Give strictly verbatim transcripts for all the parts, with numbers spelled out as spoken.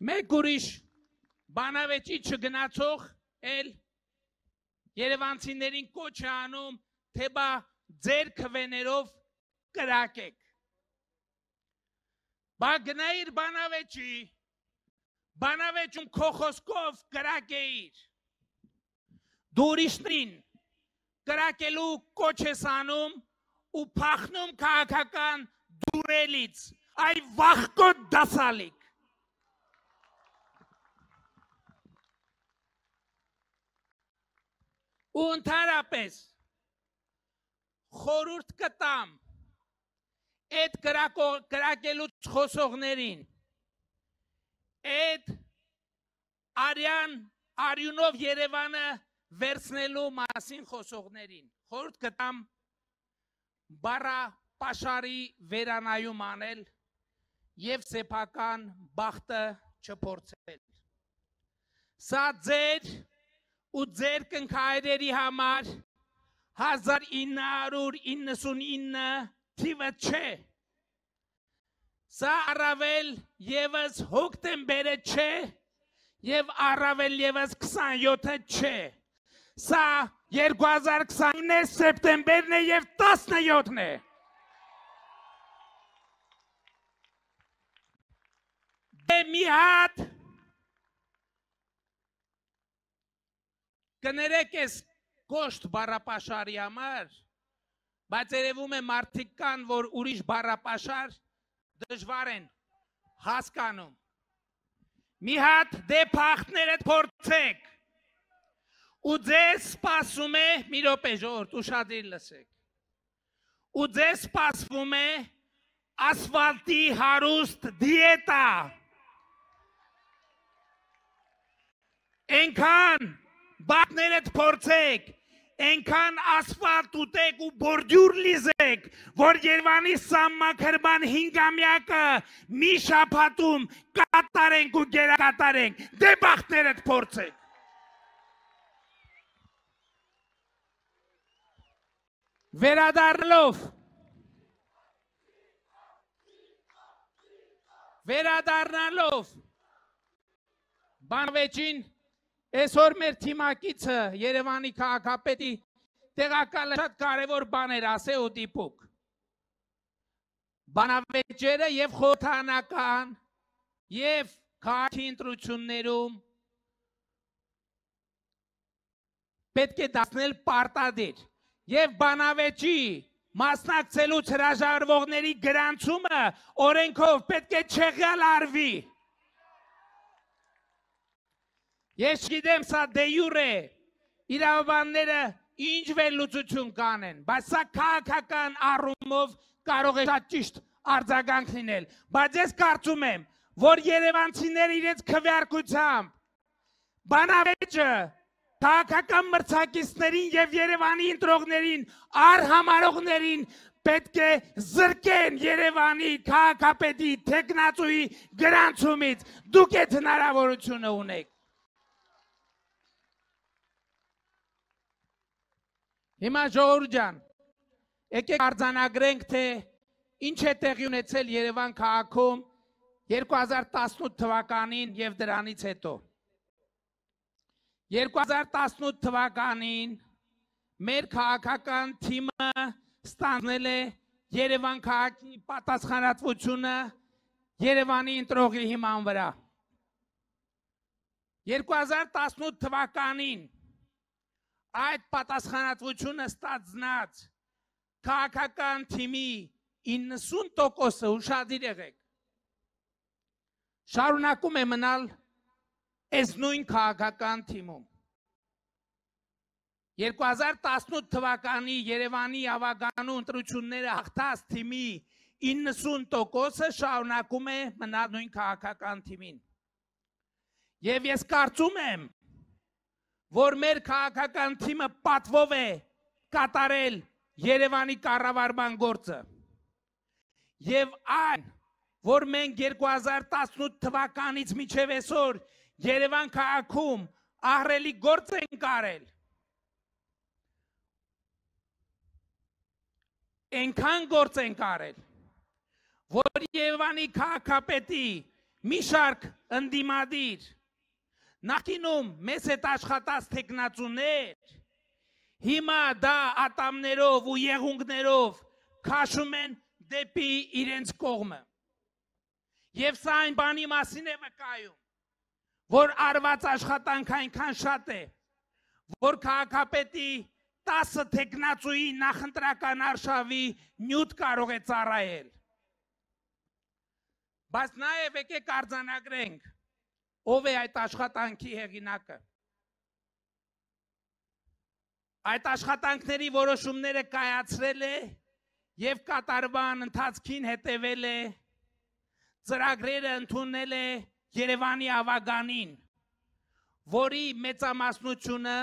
Մեկ ուրիշ բանավեճի չգնացող էլ երևանցիներին կոչ է անում, թե բա ձեր քվեներով կրակեք։ Բա գնայիր բանավեճի, բանավեճում քո խոսքով կրակեիր։ Դու ուրիշներին կրակելու կոչ ես անում ու փախնում քաղաքական դուրելից, այ վախկոտ դասալիկ։ Ու ընդհանրապես խորհուրդ կտամ այդ կրակելուց խոսողներին, այդ արյան արյունով Երևանը վերցնելու մասին խոսողներին, խորհուրդ կտամ բառապաշարի վերանայում անել և սեփական բախտը չփորձել։ Սա ձեր ու ձեր կնքայրերի համար հազար ինը հարյուր իննսունինը թիվը չէ։ Սա առավել ևս հոկտեմբերը չէ և առավել ևս քսանյոթը չէ։ Սա երկու հազար քսանինը սեպտեմբերն է և տասնյոթն է։ Դե մի հատ կներեք ես կոշտ բառապաշարի համար, բայց երևում է մարդիկ կան, որ ուրիշ բառապաշար դժվար են հասկանում։ Մի հատ դե փախտներդ փորձեք ու ձեզ սպասում է, մի րոպե ժողովուրդ, ուշադիր լսեք, ու ձեզ սպասվում է ասֆալտի հարուստ դիետա։ Այնքան բախտներդ փորձեք, այնքան ասֆալտ ուտեք ու բորդյուր լիզեք, որ Երևանի սահմաքրման հինգամյակը մի շաբաթում կատարենք ու գերակատարենք, դե բախտներդ փորձեք։ Վերադառնալով Վերադառնալով բանավեճին այսօր մեր թիմակիցը Երևանի քաղաքապետի տեղակալը շատ կարևոր բաներ ասե ու դիպուկ։ Բանավեճերը և խորհրդարանական և քաղաքի ընտրություններում պետք է դարձնել պարտադիր և բանավեճի մասնակցելուց հրաժարվողների գրանցումը օրենքով պետք է չեղյալ արվի։ Ես չգիտեմ սա դե յուրե իրավաբանները ինչ վերլուծություն կանեն, բայց սա քաղաքական առումով կարող է շատ ճիշտ արձագանք լինել, բայց ես կարծում եմ, որ երևանցիները իրենց քվեարկությամբ բանավեճը քաղաքական մրցակիցներին և Երևանի ընտրողներին, արհամարողներին պետք է զրկեն Երևանի քաղաքապետի թեկնածուի գրանցումից, դուք այդ հնարավորությունը ունեք։ Հիմա ժողովուրդ ջան, եկեք արձանագրենք, թե ինչ է տեղի ունեցել Երևան քաղաքում երկու հազար տասնութ թվականին և դրանից հետո։ երկու հազար տասնութ թվականին մեր քաղաքական թիմը ստանձնել է Երևան քաղաքի պատասխանատվությունը Երևանի ընտրողի հիման վրա։ երկու հազար տասնութ թվականին այդ պատասխանատվությունը ստանձնած քաղաքական թիմի իննսուն տոկոսը ուշադիր եղեք, շարունակում է մնալ այս նույն քաղաքական թիմում։ երկու հազար տասնութ թվականի Երևանի ավագանու ընտրությունները հաղթած թիմի իննսուն տոկոսը շարունակում է մնալ նույն քաղաքական թիմին։ Եվ ես կարծում եմ, որ մեր քաղաքական թիմը պատվով է կատարել Երևանի կառավարման գործը։ Եվ այն, որ մենք երկու հազար տասնութ թվականից մինչև այսօր Երևան քաղաքում ահռելի գործ ենք արել, այնքան գործ ենք արել, որ Երևանի քաղաքապետի մի շարք ընդդիմադիր նախինում մեզ հետ աշխատած տեխնացուներ հիմա դա ատամներով ու եղունգներով քաշում են դեպի իրենց կողմը եւ սա այն բանի մասին է վկայում որ արված աշխատանք այնքան շատ է որ քաղաքապետի տասը տեխնացուի նախընտրական արշավի նյութ կարող է ծառայել բայց նաեւ եկեք արձանագրենք ով է այդ աշխատանքի հեղինակը այդ աշխատանքների որոշումները կայացրել է եւ կատարման ընթացքին հետևել է ծրագրերը ընդունել է Երևանի ավագանին որի մեծամասնությունը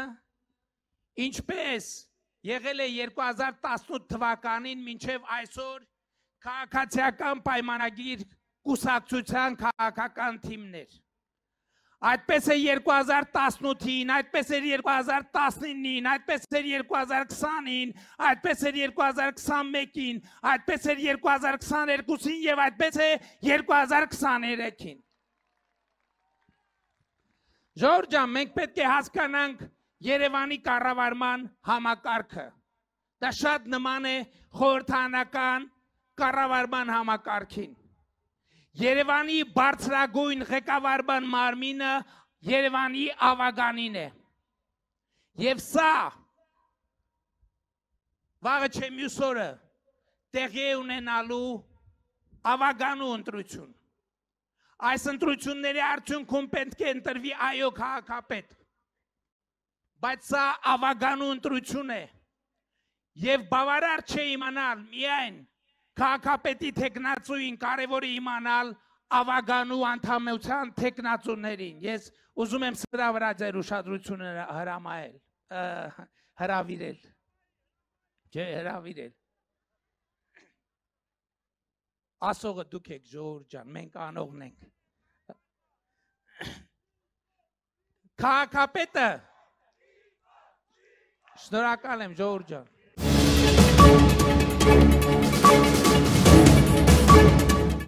ինչպես եղել է երկու հազար տասնութ թվականին մինչև այսօր քաղաքացիական պայմանագիր կուսակցության քաղաքական թիմներ այդպես է երկու հազար տասնութին, այդպես էր երկու հազար տասնինին, այդպես էր երկու հազար քսանին, այդպես էր երկու հազար քսանմեկին, այդպես էր երկու հազար քսաներկուսին եւ այդպես է երկու հազար քսաներեքին։ Ժողովուրդ ջան, մենք պետք է հասկանանք Երևանի կառավարման համակարգը։ Դա շատ նման է խորհրդանական կառավարման համակարգին։ Երևանի բարձրագույն ղեկավարման մարմինը Երևանի ավագանին է։ Եվ սա վաղը չէ մյուս օրը տեղի է ունենալու ավագանու ընտրություն։ Այս ընտրությունների արդյունքում պետք է ընտրվի այո քաղաքապետ։ Բայց սա ավագանու ընտրություն է։ Եվ բավարար չէ իմանալ միայն քաղաքապետի տեխնացուին կարևոր է իմանալ ավագանու անդամության տեխնացուներին։ Ես ուզում եմ սրա վրա ձեր ուշադրությունը հրամայել, հրավիրել։ Չէ, հրավիրել։ Ասողը դուք եք, ժողովուրդ ջան, մենք անողն ենք։ Քաղաքապետը Շնորհակալ եմ, ժողովուրդ ջան։